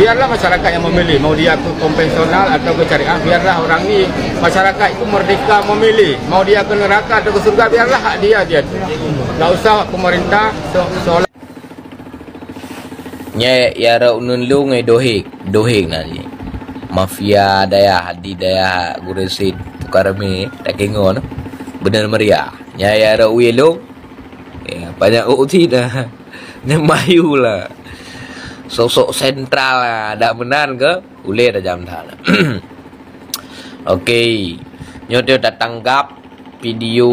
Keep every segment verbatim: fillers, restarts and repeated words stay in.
Biarlah masyarakat yang memilih, mau dia ke konvensional atau ke syariah, biarlah orang ni, masyarakat itu merdeka memilih, mau dia ke neraka atau ke surga, biarlah hak dia, dia. Tak usah pemerintah se- seolah Nyan ya rot uneun lôn, eh, dohek, dohek na jih. Mafia dayah, di dayah Gurèe Said, Tukang Ramè, Takengon. Beuneu meuria. Nyan ya rot uye lôn. Ya, banyak uti dah. Nyan mayu lah. Sosok sentral lah. Dak meunan ke? Ulèe tajam that. Oke. Nyoe teu tatanggap video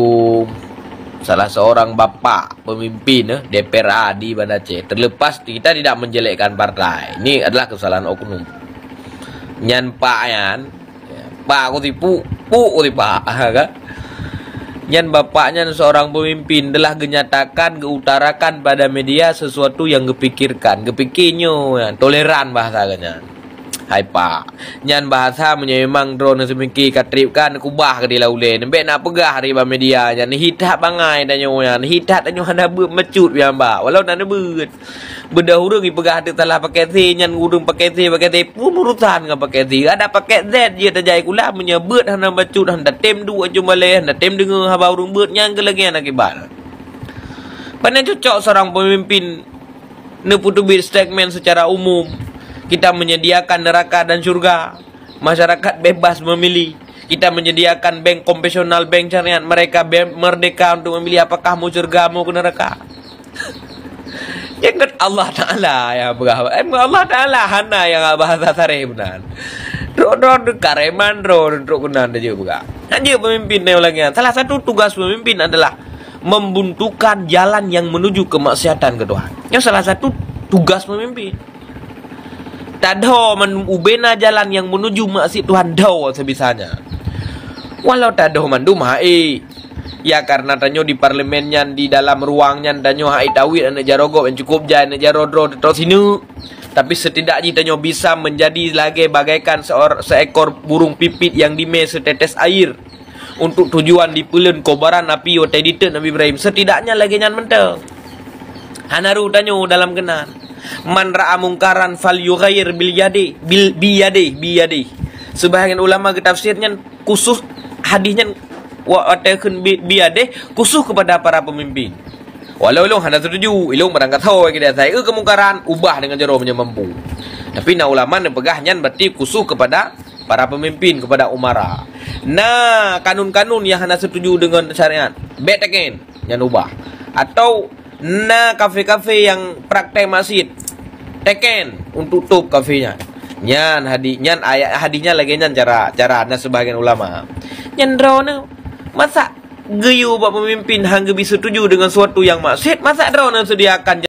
salah seorang bapak pemimpin, eh, D P R A di Banda Aceh. Terlepas kita tidak menjelekkan partai. Ini adalah kesalahan oknum. Nyan pak nyan, pak ku tipu, puk ku tipak, kan? Nyan bapak nyan seorang pemimpin telah genyatakan, geutarakan pada media sesuatu yang gepikirkan. Gepikir nyoe, toleran bahasa geuh nyan. Hai pak, nyan bahasa meunyoe memang droeneuh seumiki ka treb kan, kubah keudéh lam ulèe. Bèk na peugah di bak media nyan, hi that bangai tanyoe nyan, hi that tanyoe hana beuet meucut pian bak, walau na neubeuet. Beudôh ureueng jipeugah teuk salah paket C, nyan ureueng paket C, paket C pun urusan ngon paket C. Adak paket Z jeuet tajak sikula, meunyoe beuet hana bacut, hana tem duek ujong balèe, hana tem deungö haba ureueng beuet, nyan keuh lagèe nyan akibat. Pane cocok seorang pemimpin neupeuteubiet statement secara umum, kita menyediakan neraka dan syurga, masyarakat bebas memilih. Kita menyediakan bank konvensional, bank syariat, mereka be-, merdeka untuk memilih apakah mau syurga, mau ke neraka. Ingat Allah Ta'ala yang peugah. Emang Allah Ta'ala hana yang bahasa sareh beuna. Droe-droe kareman droe trok keunan tajak peugah. Hana pemimpin nyang lagèe nyan. Salah satu tugas pemimpin adalah membuntukan jalan yang menuju kemaksiatan ke Tuhan. Nyan salah satu tugas pemimpin. Tadho mandum ubena jalan yang menuju maksiat Tuhan, dho sebisanya. Walau tadho mandum hai. Ya, karena tanyoe di parlemen nyan, di dalam ruang nyan, tanyoe hai tawit aneuk jaroe gob nyang cukup jai, aneuk jaroe droe teutok sineuk. Tapi setidak jih tanyoe bisa menjadi lagèe bagaikan seor-, seekor burung pipit yang dimè setetes air. Untuk tujuan dipeuleuen kobaran api watèe diteuk Nabi Ibrahim. Setidaknya lagèe nyan mantong. Hana rôh tanyoe dalam keunan. "Man ra'a mungkaran falyughayyir bil yadi, bil, biyadih, biyadih." Sebahagian ulama geutafsir nyan khusus hadis nyan wa-, watèe kheun bi-, biyadih khusus kepada para pemimpin. Walau ilôn hana setuju, ilôn barangkasoe keudéh asai, eu keumungkaran, ubah deungon jaroe meunyoe mampu. Tapi na ulama neupeugah nyan berarti khusus kepada para pemimpin, kepada umara. Na kanun-kanun nyang hana setuju deungon syariat, bèk teken, nyan ubah. Atau na kafe-kafe nyang praktek maksiat, teken untuk top kafe nyan. Nyan hadis, nyan ayat hadis nyan lagèe nyan cara, cara na sebahagian ulama. Nyan droeneuh, masa geuyue bak pemimpin han geubi setuju deungon suatu nyang maksiat, masa droeneuh sediakan